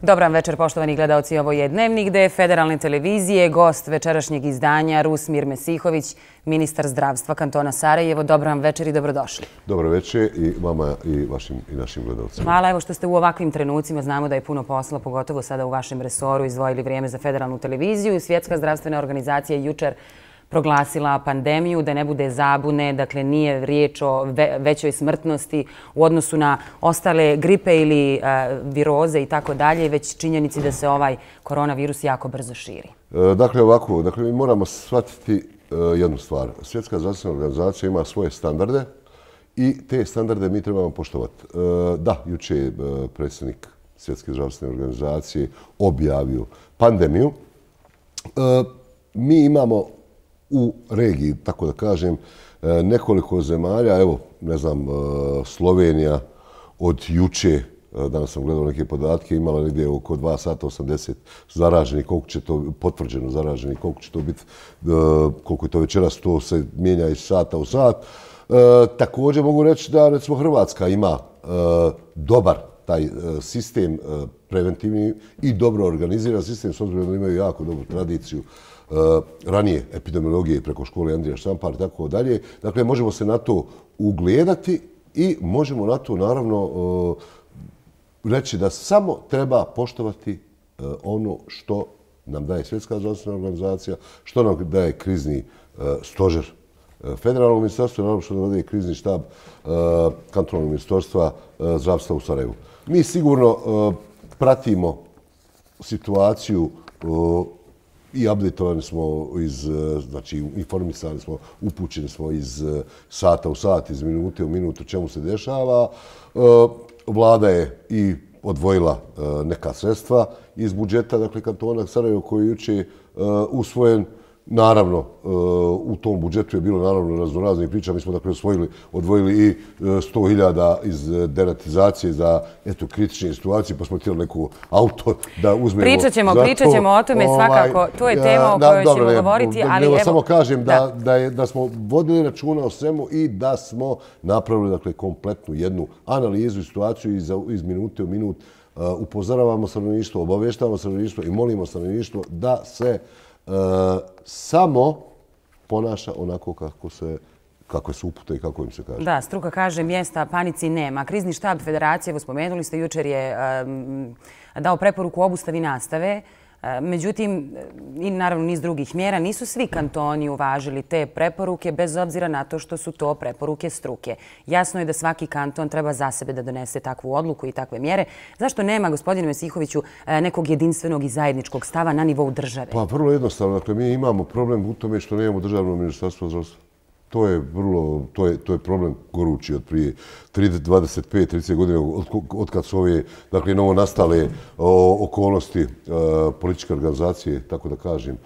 Dobar večer, poštovani gledaoci. Ovo je Dnevnik D federalne televizije. Gost večerašnjeg izdanja Rusmir Mesihović, ministar zdravstva kantona Sarajevo. Dobar večer i dobrodošli. Dobar večer i vama i vašim i našim gledalcima. Hvala evo što ste u ovakvim trenucima. Znamo da je puno posla, pogotovo sada u vašem resoru, izdvojili vrijeme za federalnu televiziju. Svjetska zdravstvena organizacija je jučer proglasila pandemiju, da ne bude zabune, dakle nije riječ o većoj smrtnosti u odnosu na ostale gripe ili viroze i tako dalje, već činjenici da se ovaj koronavirus jako brzo širi. Dakle, ovako, mi moramo shvatiti jednu stvar. Svjetska zdravstvena organizacija ima svoje standarde i te standarde mi trebamo poštovati. Da, jučer je predsjednik Svjetske zdravstvene organizacije objavio pandemiju. Mi imamo u regiji, tako da kažem, nekoliko zemalja, evo, ne znam, Slovenija od juče, danas sam gledao neke podatke, imala negdje oko 2 sata 80 zaraženih, koliko će to, potvrđeno zaraženih, koliko će to biti, koliko je to večeras, to se mijenja iz sata u sat. Također mogu reći da, recimo, Hrvatska ima dobar taj sistem preventivni i dobro organiziran sistem, s obzirom da imaju jako dobru tradiciju ranije epidemiologije preko škole Andrija Štampar i tako dalje. Dakle, možemo se na to ugledati i možemo na to, naravno, reći da samo treba poštovati ono što nam daje Svjetska zdravstvena organizacija, što nam daje krizni stožer federalnog ministarstva, naravno što nam daje krizni štab kantonalnog ministarstva zdravstva u Sarajevu. Mi sigurno pratimo situaciju i updateovani smo znači informisani smo, upućeni smo iz sata u sat, iz minute u minutu čemu se dešava. Vlada je i odvojila neka sredstva iz budžeta, dakle kantona Sarajevo koji je jučer usvojen. Naravno, u tom budžetu je bilo naravno raznoraznih priča. Mi smo dakle odvojili i 100.000 iz deratizacije za kritične situacije, pa smo htjeli neku auto da uzmemo. Pričat ćemo o tome svakako. To je tema o kojoj ćemo govoriti, ali evo... Samo kažem da smo vodili računa o svemu i da smo napravili dakle kompletnu jednu analizu i situaciju iz minute u minut. Upozoravamo stanovništvo, obavještavamo stanovništvo i molimo stanovništvo da se samo ponaša onako kako se upute i kako im se kaže. Da, struka kaže mjesta panici nema. Krizni štab federacije, evo spomenuli ste, jučer je dao preporuku o obustavi nastave. Međutim, i naravno niz drugih mjera, nisu svi kantoni uvažili te preporuke, bez obzira na to što su to preporuke struke. Jasno je da svaki kanton treba za sebe da donese takvu odluku i takve mjere. Zašto nema, gospodine Mesihoviću, nekog jedinstvenog i zajedničkog stava na nivou države? Pa vrlo jednostavno. Dakle, mi imamo problem u tome što nemamo državno ministarstvo zdravstva. To je problem gorući od prije 25-30 godina od kad su ove novo nastale okolnosti političke organizacije, tako da kažem,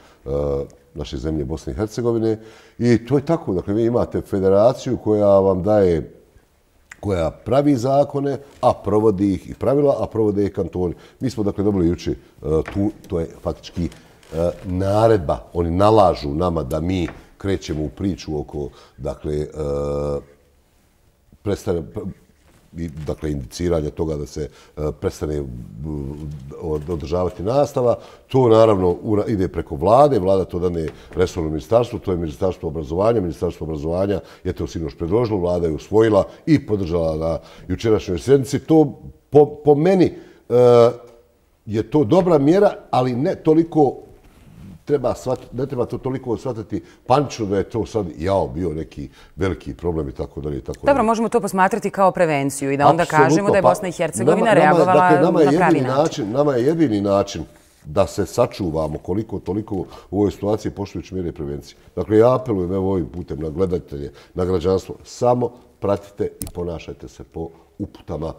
naše zemlje Bosne i Hercegovine. I to je tako. Dakle, vi imate federaciju koja vam daje, koja pravi zakone, a provodi ih i pravila, a provode ih kantoni. Mi smo dakle dobili jučer tu, to je faktički naredba. Oni nalažu nama da mi krećemo u priču oko, dakle, indiciranja toga da se prestane održavati nastava. To naravno ide preko vlade, vlada to dane resorno ministarstvo, to je ministarstvo obrazovanja. Ministarstvo obrazovanja je to sinoć predložilo, vlada je usvojila i podržala na jučerašnjoj sjednici. To po meni je to dobra mjera, ali ne toliko ne treba to toliko shvatiti panično da je to sad bio neki veliki problem i tako dalje. Dobro, možemo to posmatrati kao prevenciju i da onda kažemo da je Bosna i Hercegovina reagovala na pravi način. Nama je jedini način da se sačuvamo koliko toliko u ovoj situaciji poštujući mjere prevencije. Dakle, ja apelujem ovim putem na gledatelje, na građanstvo, samo pratite i ponašajte se po uputama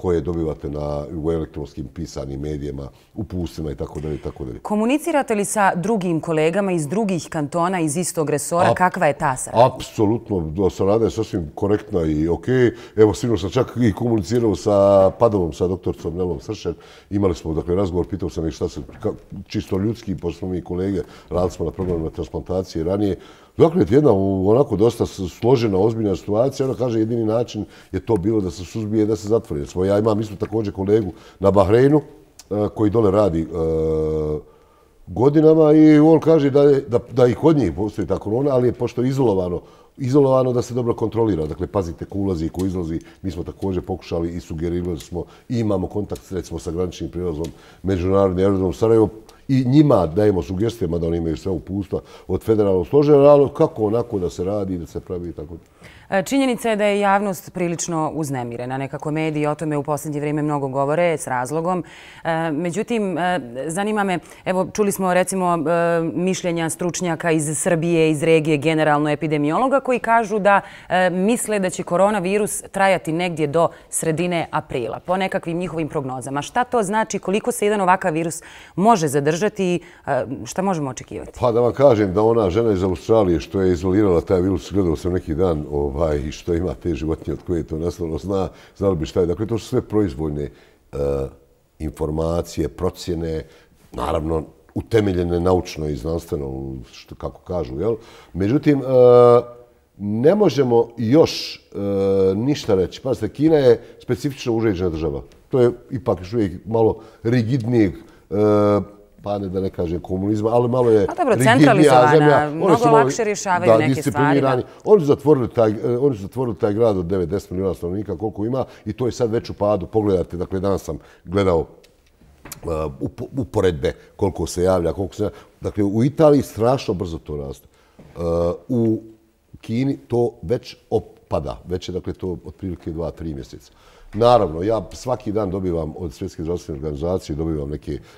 koje dobivate u elektronskim pisanim medijima, uputstvima i tako dalje. Komunicirate li sa drugim kolegama iz drugih kantona iz istog resora? Kakva je ta saradnja? Apsolutno, saradnja je sasvim korektna i okej. Evo, sinoć sam čak i komunicirao sa Padovom, sa doktorcom Nelom Sršen. Imali smo razgovor, pitao sam ih šta se čisto ljudski, pošto smo mi kolege, radili smo na programima transplantacije ranije. Dakle, jedna onako dosta složena, ozbiljna situacija. Ona kaže jedini način je to bilo da se suzbije, da se zatvori. Ja imam isto također kolegu na Bahreinu koji dole radi godinama i on kaže da i kod njih postoji ta korona, ali je pošto je izolovano da se dobro kontrolira. Dakle, pazite ko ulazi i ko izlazi. Mi smo također pokušali i sugerirali smo i imamo kontakt recimo sa graničnim prijelazom Međunarodni aerodrom Sarajevo i njima dajemo sugestijama da oni imaju sve upustva od federalnog stožera, ali kako onako da se radi, da se pravi i tako. Činjenica je da je javnost prilično uznemirena. Nekako mediji o tome u posljednje vrijeme mnogo govore s razlogom. Međutim, zanima me, evo čuli smo recimo mišljenja stručnjaka iz Srbije, iz regije, generalno epidemiologa koji kažu da misle da će koronavirus trajati negdje do sredine aprila, po nekakvim njihovim prognozama. Šta to znači, koliko se jedan ovakav virus može zadržati i šta možemo očekivati? Pa da vam kažem da ona žena iz Australije što je izolirala taj virus, gledao sam neki dan, i što ima te životinje od koje je to nastalo, znali bi šta je. Dakle, to su sve proizvoljne informacije, procjene, naravno utemeljene naučno i znanstveno, kako kažu. Jel? Međutim, ne možemo još ništa reći. Pazite, Kina je specifično uređena država. To je ipak još uvijek malo rigidnijeg, pa ne da ne kažem komunizma, ali malo je rigidnija zemlja. Mnogo lakše rješavaju neke stvari. Oni su zatvorili taj grad od 9-10 milijuna stanovnika koliko ima i to je sad već u padu. Pogledajte, dakle danas sam gledao uporedbe koliko se javlja, Dakle, u Italiji strašno brzo to raste. U Kini to već opada. Već je, dakle, to otprilike 2-3 mjeseca. Naravno, ja svaki dan dobivam od Svjetske zdravstvene organizacije, dobivam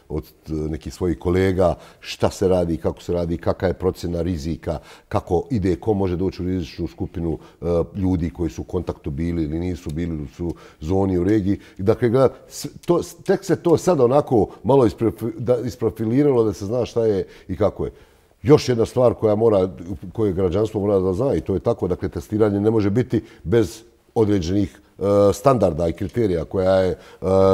od nekih svojih kolega šta se radi, kako se radi, kakva je procjena rizika, kako ide, ko može doći u rizičnu skupinu ljudi koji su u kontaktu bili ili nisu bili u zoni u regiji. Dakle, tek se to sad onako malo isprofiliralo da se zna šta je i kako je. Još jedna stvar koju građanstvo mora da zna i to je tako, dakle, testiranje ne može biti bez određenih standarda i kriterija koja je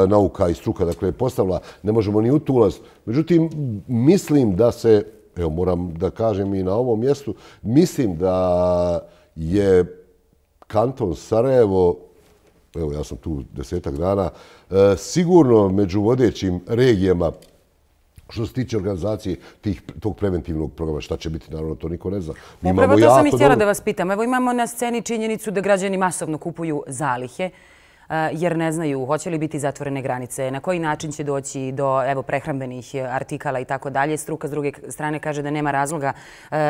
nauka i struka dakle, postavila. Ne možemo ni u tu ulaziti. Međutim, mislim da se, evo moram da kažem i na ovom mjestu, mislim da je kanton Sarajevo, evo ja sam tu 10-ak dana, sigurno među vodećim regijama što se tiče organizacije tog preventivnog programa, šta će biti, naravno, to niko ne zna. Upravo to sam i htjela da vas pitam. Evo imamo na sceni činjenicu da građani masovno kupuju zalihe, jer ne znaju hoće li biti zatvorene granice, na koji način će doći do prehrambenih artikala i tako dalje. Struka s druge strane kaže da nema razloga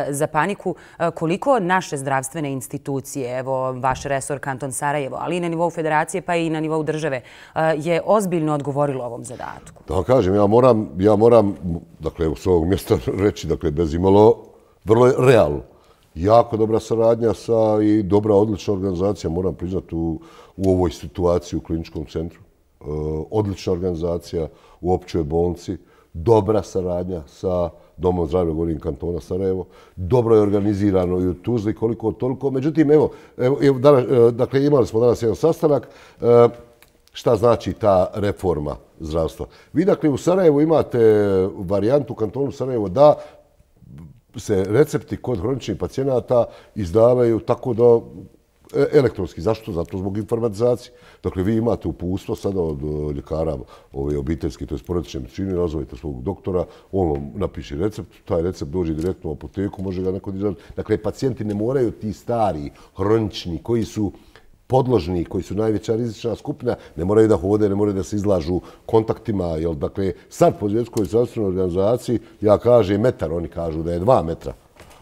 za paniku. Koliko naše zdravstvene institucije, evo vaš resor Kanton Sarajevo, ali i na nivou federacije pa i na nivou države, je ozbiljno odgovorilo ovom zadatku? Da vam kažem, ja moram, dakle, s ovog mjesta reći, dakle, bez imalo, vrlo je realno. Jako dobra saradnja i dobra, odlična organizacija, moram priznati, u ovoj situaciji u kliničkom centru. Odlična organizacija u općoj bolnici, dobra saradnja sa Domom zdravlja, govorim, kantona Sarajevo. Dobro je organizirano i u Tuzli, koliko toliko. Međutim, evo, dakle, imali smo danas jedan sastanak. Šta znači ta reforma zdravstva? Vi, dakle, u Sarajevu imate varijantu u kantonu Sarajevo da se recepti kod hroničnih pacijenata izdavaju tako da elektronski. Zašto? Zato zbog informatizacije. Dakle, vi imate uputstvo sada od ljekara obiteljske, to je porodične medicine, nazovite svog doktora, on vam napiše recept, taj recept dođe direktno u apoteku, može ga neko izraditi. Dakle, pacijenti ne moraju ti stari, hronični, koji su podložni, koji su najveća rizična skupina, ne moraju da hode, ne moraju da se izlažu kontaktima. Dakle, sad po Svjetskoj zdravstvenoj organizaciji, ja kažem metar, oni kažu da je 2 metra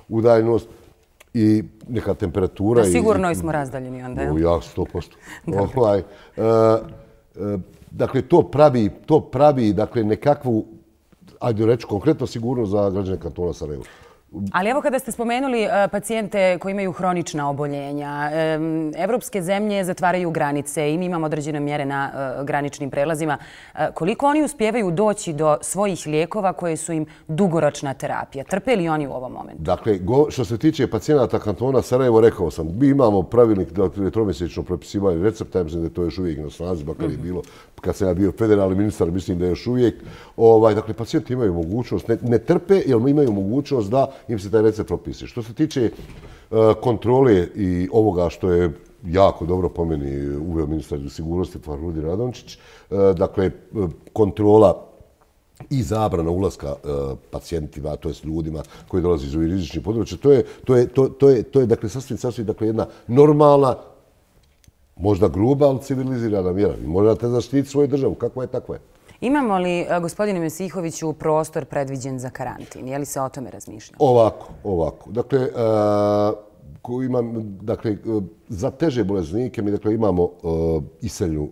udaljenost i neka temperatura. Da sigurno smo razdaljeni onda, jel? Ja, 100%. Dakle, to pravi nekakvu, ajde reći, konkretno sigurnost za građane kantona Sarajevo. Ali evo kada ste spomenuli pacijente koji imaju hronična oboljenja, evropske zemlje zatvaraju granice i mi imamo određene mjere na graničnim prelazima. Koliko oni uspijevaju doći do svojih lijekova koje su im dugoročna terapija? Trpe li oni u ovom momentu? Dakle, što se tiče pacijenata kantona Sarajevo, rekao sam, mi imamo pravilnik tromjesečno propisivanje recepta, mislim da je to još uvijek na snazi, makar je bilo kad sam ja bio federalni ministar, mislim da je još uvijek. Dakle, pacijenti imaju mogućnost, ne trpe, jer imaju mogućnost da im se taj recept propiše. Što se tiče kontrole i ovoga što je jako dobro po meni uveo ministar sigurnosti Farhudin Radončić, dakle, kontrola i zabrana ulaska pacijentima, to jest ljudima koji dolaze iz ovih rizičnih područja. To je dakle, sasvim dakle, jedna normalna, možda gruba, ali civilizirana mjera. Vi morate zaštititi svoju državu, kakva je, takva je. Imamo li, gospodine Mesihoviću, prostor predviđen za karantin? Je li se o tome razmišlja? Ovako. Dakle, za teže bolesnike mi dakle, imamo iseljnu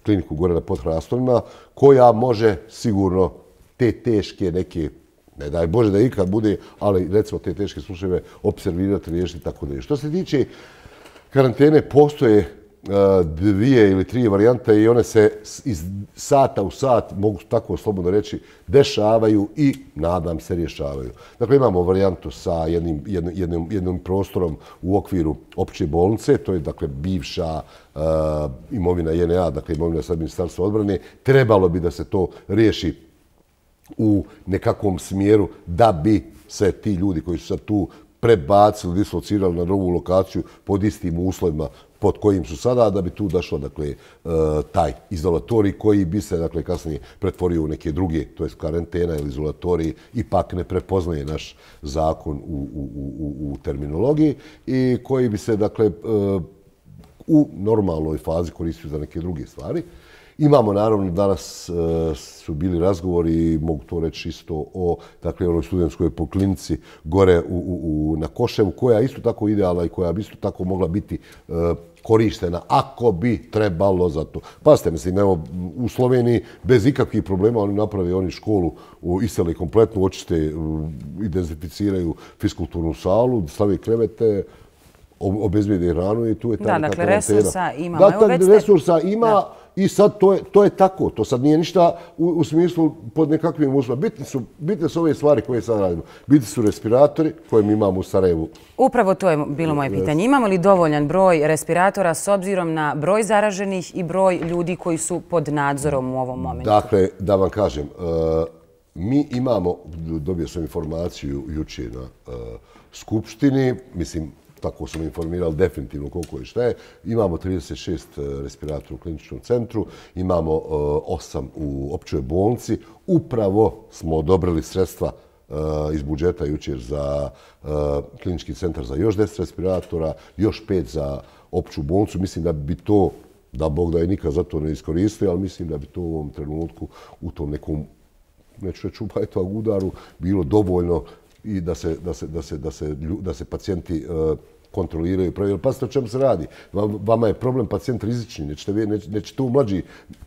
kliniku gore na Podhrastovima koja može sigurno te teške neke, ne daj Bože da ikad bude, ali recimo te teške slučajeve observirati, riješiti tako da je. Što se tiče karantene, postoje 2 ili 3 varijante i one se iz sata u sat, mogu tako slobodno reći, dešavaju i nadam se rješavaju. Dakle, imamo varijantu sa jednim prostorom u okviru opće bolnice, to je dakle bivša imovina JNA, dakle imovina sad Ministarstva odbrane. Trebalo bi da se to riješi u nekakvom smjeru da bi se ti ljudi koji su sad tu prebacili, dislocirali na drugu lokaciju pod istim uslovima pod kojim su sada, da bi tu došlo dakle, taj izolatorij koji bi se dakle, kasnije pretvorio u neke druge, to je karantena ili izolatorij, ipak ne prepoznaje naš zakon u terminologiji i koji bi se dakle, u normalnoj fazi koristio za neke druge stvari. Imamo, naravno, danas su bili razgovori, mogu to reći isto o onoj studentskoj poklinici gore na Koševu, koja je isto tako idealna i koja bi isto tako mogla biti korištena ako bi trebalo za to. Pazite, mislim, evo, u Sloveniji bez ikakvih problema oni školu, iseli kompletnu, očiste, dezinficiraju fiskulturnu salu, stave krevete, obezbijede hranu i tu je ta karantena. Da, dakle, resursa ima. Da, resursa ima i sad to je tako. To sad nije ništa u smislu pod nekakvim uslovima. Bitne su ove stvari koje sad radimo. Bitni su respiratori koje mi imamo u Sarajevu. Upravo to je bilo moje pitanje. Imamo li dovoljan broj respiratora s obzirom na broj zaraženih i broj ljudi koji su pod nadzorom u ovom momentu? Dakle, da vam kažem, mi imamo, dobio sam informaciju jučer na Skupštini, mislim, tako sam informirali definitivno koliko i šta je. Imamo 36 respiratora u kliničkom centru, imamo 8 u općoj bolnici. Upravo smo odobrili sredstva iz budžeta jučer za klinički centar za još 10 respiratora, još 5 za opću bolnicu. Mislim da bi to, da Bog da je nikad za to ne iskoristio, ali mislim da bi to u ovom trenutku u tom nekom, neću reći u udaru, bilo dovoljno i da se pacijenti kontroliraju. Pazite o čemu se radi. Vama je problem pacijent rizični. Nećete tu mlađi,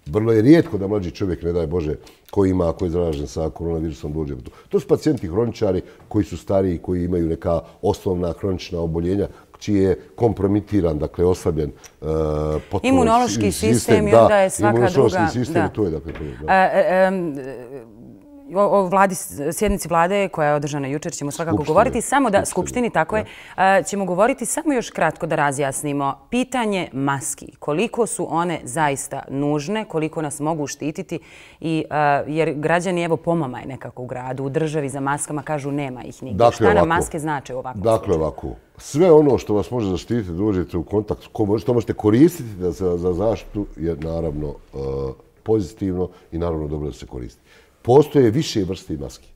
vrlo je rijetko da mlađi čovjek, ne daj Bože, koji je zaražen sa koronavirusom dođe. To su pacijenti hroničari koji su stariji, koji imaju neka osnovna hronična oboljenja, čiji je kompromitiran, dakle oslabljen imunološki sistem i onda je svaka druga... Imunološki sistem i to je dakle o sjednici vlade koja je održana jučer ćemo svakako govoriti. Samo da, Skupštini, tako je, ćemo govoriti samo još kratko da razjasnimo. Pitanje maski. Koliko su one zaista nužne, koliko nas mogu štititi, jer građani evo pomamaj nekako u gradu, u državi za maskama kažu nema ih nigdje. Šta nam maske znače u ovakvom slučaju? Dakle, ovako. Sve ono što vas može zaštititi, dođete u kontakt, što možete koristiti za zaštitu je naravno pozitivno i naravno dobro da se koristi. Postoje više vrste maski.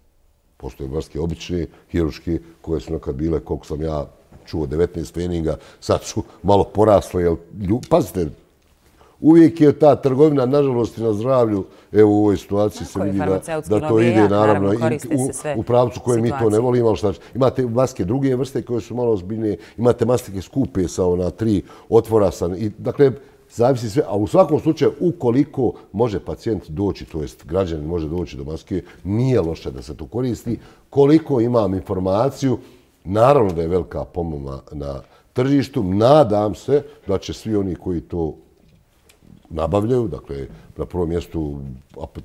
Postoje maske obične, hiruške, koje su nekad bile, koliko sam ja čuo, 19 feninga, sad su malo porasle. Pazite, uvijek je ta trgovina, nažalost, i na zdravlju, evo u ovoj situaciji se vidi da to ide, naravno, u pravcu koje mi to ne volimo. Imate maske druge vrste koje su malo ozbiljnije, imate maske skupe sa 3 otvora. Dakle, zavisi sve, a u svakom slučaju, ukoliko može pacijent doći, to jest građanin može doći do maske, nije loše da se to koristi. Koliko imam informaciju, naravno da je velika pomama na tržištu. Nadam se da će svi oni koji to nabavljaju, dakle, na prvom mjestu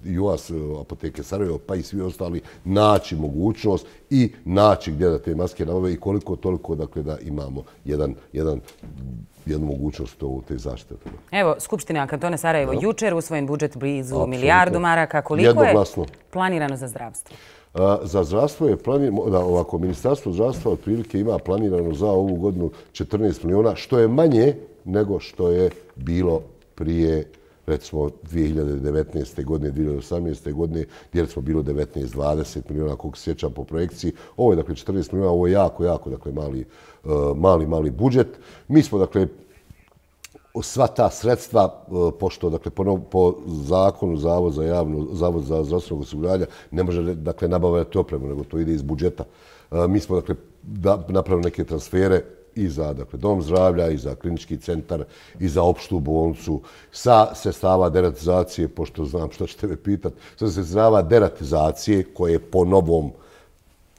JOAS, apoteke Sarajevo, pa i svi ostali, naći mogućnost i naći gdje da te maske nabavljaju i koliko toliko, dakle, da imamo jednu mogućnost te zaštite. Evo, Skupština kantona Sarajevo jučer usvojen budžet blizu milijardu maraka. Koliko je planirano za zdravstvo? Za zdravstvo je planirano, ovako, Ministarstvo zdravstva otprilike ima planirano za ovu godinu 14 miliona, što je manje nego što je bilo prije, recimo 2019. godine, 2018. godine, gdje smo bilo 19-20 milijuna, koliko se sjećam po projekciji. Ovo je, dakle, 14 milijuna, ovo je jako, dakle, mali budžet. Mi smo, dakle, sva ta sredstva, pošto, dakle, po zakonu Zavod za zdravstveno osiguranje ne može, dakle, nabavljati opremu, nego to ide iz budžeta. Mi smo, dakle, napravili neke transfere i za, dakle, dom zdravlja, i za klinički centar, i za opštu bolnicu, sa sredstava deratizacije, pošto znam što ćete me pitati, sa sredstava deratizacije koje po novom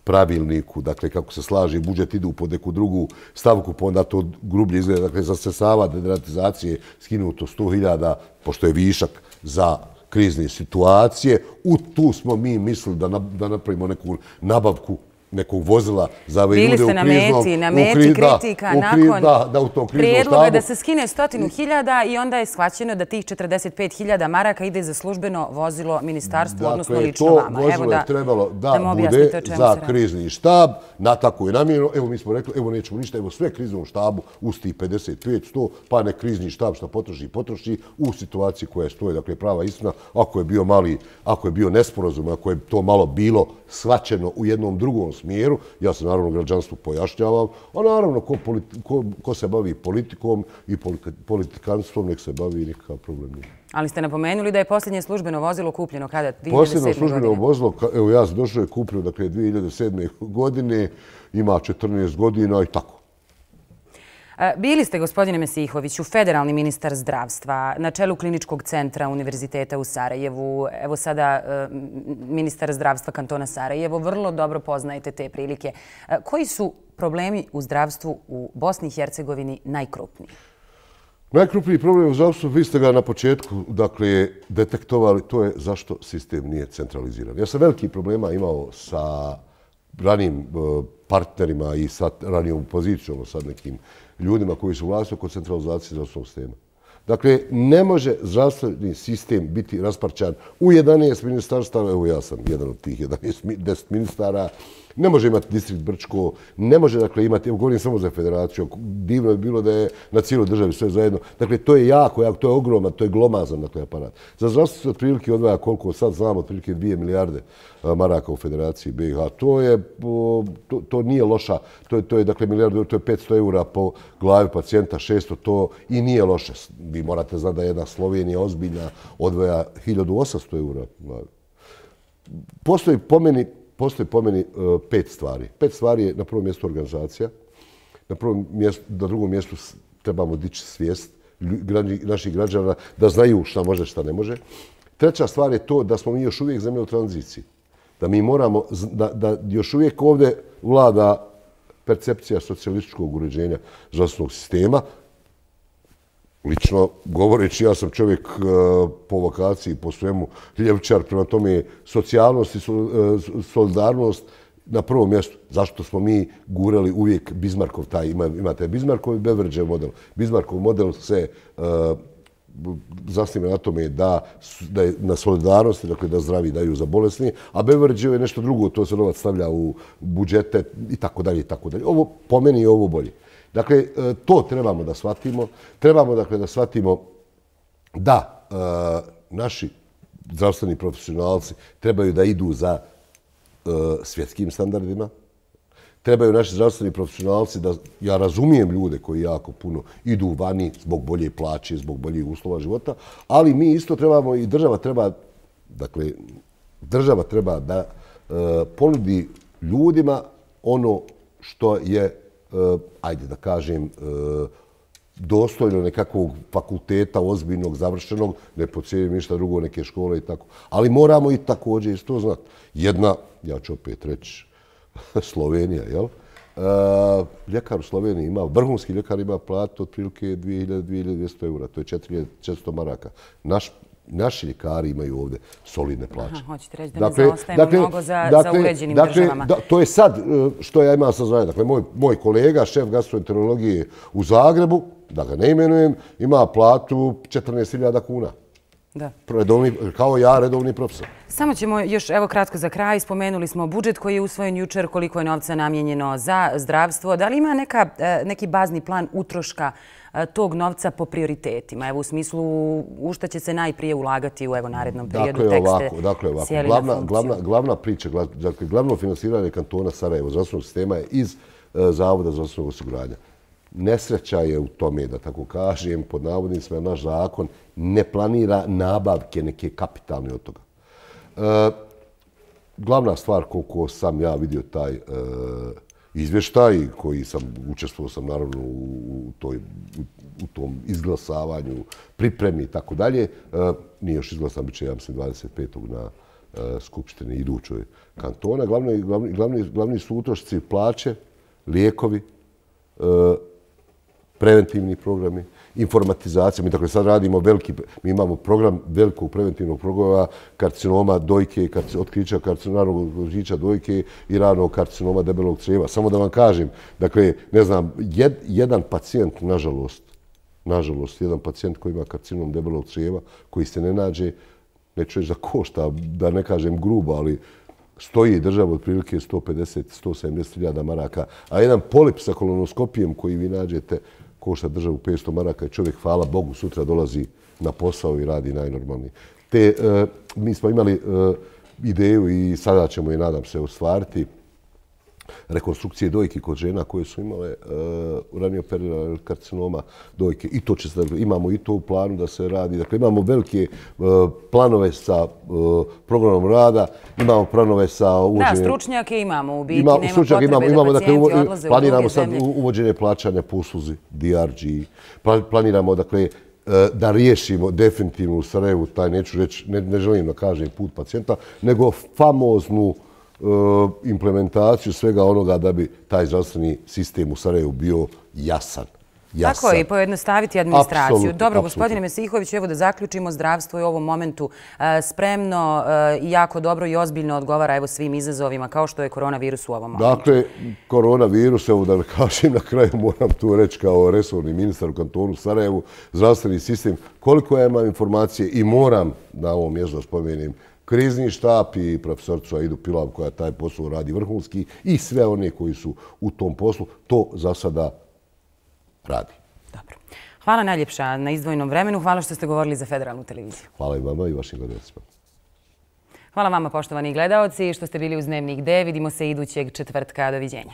pravilniku, dakle, kako se slaže budžet, idu pod neku drugu stavku, pa onda to grublje izgleda. Dakle, za sredstava deratizacije skinuto 100.000, pošto je višak za krizne situacije. Tu smo mi mislili da napravimo neku nabavku nekog vozila za ove ljude u kriznom... Bili ste na meti kritika nakon prijedloga da se skine 100.000 i onda je shvaćeno da tih 45.000 maraka ide za službeno vozilo ministarstvu, odnosno lično vama. Dakle, to vozilo je trebalo da bude za krizni štab, na tako je namjerno. Evo, mi smo rekli, evo, nećemo ništa, evo, sve kriznom štabu uz tih 55-100, pa ne krizni štab što potroši u situaciji koja stoji. Dakle, prava istina, ako je bio nesporazum, ako je to malo bilo shvaćeno u jednom drugom smjeru, ja se naravno građanstvu pojašnjavam, a naravno ko se bavi politikom i politikanstvom, nek se bavi, nikakav problem nije. Ali ste napomenuli da je posljednje službeno vozilo kupljeno kada? 2007. Posljednje službeno vozilo, evo ja sam došao je kupljeno, dakle, 2007. godine, ima 14 godina i tako. Bili ste, gospodine Mesihoviću, federalni ministar zdravstva, na čelu kliničkog centra Univerziteta u Sarajevu, evo sada ministar zdravstva kantona Sarajevo, vrlo dobro poznajete te prilike. Koji su problemi u zdravstvu u Bosni i Hercegovini najkrupniji? Najkrupniji problem u zdravstvu, vi ste ga na početku, dakle, detektovali, to je zašto sistem nije centraliziran. Ja sam velikih problema imao sa ranijim partnerima i sa ranijom pozicijom, sad nekim ljudima koji su vlasti oko centralizacije zdravstvenog sistema. Dakle, ne može zdravstveni sistem biti rasparčan u 11 ministarstava, evo ja sam jedan od tih 10 ministara, ne može imati distrikt Brčko, ne može, dakle, imati, evo govorim samo za federaciju, divno je bilo da je na cijeloj državi sve zajedno. Dakle, to je jako, to je ogroman, to je glomazan, dakle, aparat. Za zdravstvo se otprilike odvaja koliko sad znamo, otprilike 2 milijarde maraka u federaciji BiH. To nije loša, to je, dakle, milijardu, to je 500 eura po glavi pacijenta, 600, to i nije loše. Vi morate znati da jedna Slovenija ozbiljna odvaja 1800 eura. Postoji po meni 5 stvari. 5 stvari je na prvom mjestu organizacija. Na drugom mjestu trebamo dići svijest naših građana da znaju šta može, šta ne može. Treća stvar je to da smo mi još uvijek zemlja u tranziciji. Da mi moramo, da još uvijek ovdje vlada percepcija socijalističkog uređenja zdravstvenog sistema. Lično govoreći, ja sam čovjek po vokaciji, po svemu ljevičar, prema tome socijalnost i solidarnost na prvom mjestu. Zašto smo mi gurali uvijek Bismarckov taj, imate Bismarckov i Beveridgeov model. Bismarckov model se zasniva na tome da je na solidarnosti, dakle da zdravi daju za bolesni, a Beveridgeov je nešto drugo, to se novac stavlja u budžete i tako dalje i tako dalje. Ovo, po meni je ovo bolje. Dakle, to trebamo da shvatimo. Trebamo, dakle, da shvatimo da naši zdravstveni profesionalci trebaju da idu za svjetskim standardima. Trebaju naši zdravstveni profesionalci da, ja razumijem ljude koji jako puno idu vani zbog bolje plaće, zbog boljih uslova života, ali mi isto trebamo i država treba da ponudi ljudima ono što je, ajde da kažem, dostojno nekakvog fakulteta ozbiljnog, završenog, ne pocijenim ništa drugo, neke škole i tako. Ali moramo i također isto znati. Jedna, ja ću opet reći, Slovenija, jel? Ljekar u Sloveniji ima, vrhunski ljekar ima platu otprilike 2.200 eura, to je 4.400 maraka. Naši ljekari imaju ovdje solidne plaće. Hoćete reći da ne zaostajemo mnogo za uređenim državama. To je sad što ja imam saznanje. Dakle, moj kolega, šef gastroenterologije u Zagrebu, da ga ne imenujem, ima platu 14.000 kuna. Kao ja, redovni profesor. Samo ćemo još, evo kratko za kraj, spomenuli smo budžet koji je usvojen jučer, koliko je novca namijenjeno za zdravstvo. Da li ima neki bazni plan utroška tog novca po prioritetima? Evo u smislu u šta će se najprije ulagati u narednom periodu? Dakle, ovako. Glavna priča, dakle, glavno finansiranje kantona Sarajevo zdravstvenog sistema je iz Zavoda zdravstvenog osiguranja. Nesreća je u tome, da tako kažem, pod navodnicima, naš zakon ne planira nabavke neke kapitalne od toga. Glavna stvar, koliko sam ja vidio taj izvještaj, koji učestvovao sam naravno u tom izglasavanju, pripremi i tako dalje, nije još izglasan, bit će, ja mislim, 25. na skupštini idućoj kantona. Glavni su utrošci plaće, lijekovi, preventivni programi, informatizacija. Mi dakle sad radimo mi imamo program velikog preventivnog programa karcinoma dojke, otkrića ranog otkrića dojke i ranog karcinoma debelog crijeva. Samo da vam kažem, dakle, ne znam, jedan pacijent, nažalost, jedan pacijent koji ima karcinom debelog crijeva, koji se ne nađe, neću reći za košta, da ne kažem grubo, ali stoji država otprilike 150-170 hiljada maraka, a jedan polip sa kolonoskopijem koji vi nađete košta državu 500 maraka i čovjek, hvala Bogu, sutra dolazi na posao i radi najnormalnije. Mi smo imali ideju i sada ćemo je, nadam se, ostvariti, rekonstrukcije dojke kod žena koje su imale ranijoperiodalnog karcinoma dojke. I to imamo i to u planu da se radi. Dakle, imamo velike planove sa programom rada, imamo planove sa uvođenjem... Da, stručnjake imamo u biti, nema potrebe da pacijenti odlaze u druge zemlje. Planiramo sad uvođenje plaćanja po usluzi DRG. Planiramo, dakle, da riješimo definitivno u Sarajevu taj, neću reći, ne želim da kažem put pacijenta, nego famoznu implementaciju svega onoga da bi taj zdravstveni sistem u Sarajevu bio jasan. Tako je, i pojednostaviti administraciju. Dobro, gospodine Mesihović, evo da zaključimo, zdravstvo je u ovom momentu spremno i jako dobro i ozbiljno odgovara evo svim izazovima kao što je koronavirus u ovom momentu. Dakle, koronavirus, evo da kažem na kraju, moram tu reći kao resorni ministar u kantonu Sarajevu, zdravstveni sistem, koliko ja imam informacije i moram na ovom mjestu da spomenem krizni štab i profesorcu Aidu Pilav koja taj posao radi vrhunski i sve one koji su u tom poslu, to za sada radi. Dobro. Hvala najljepša na izdvojenom vremenu. Hvala što ste govorili za Federalnu televiziju. Hvala i vama i vašim gledalcima. Hvala vama, poštovani gledaoci, što ste bili uz Dnevnik D. Vidimo se idućeg četvrtka. Doviđenja.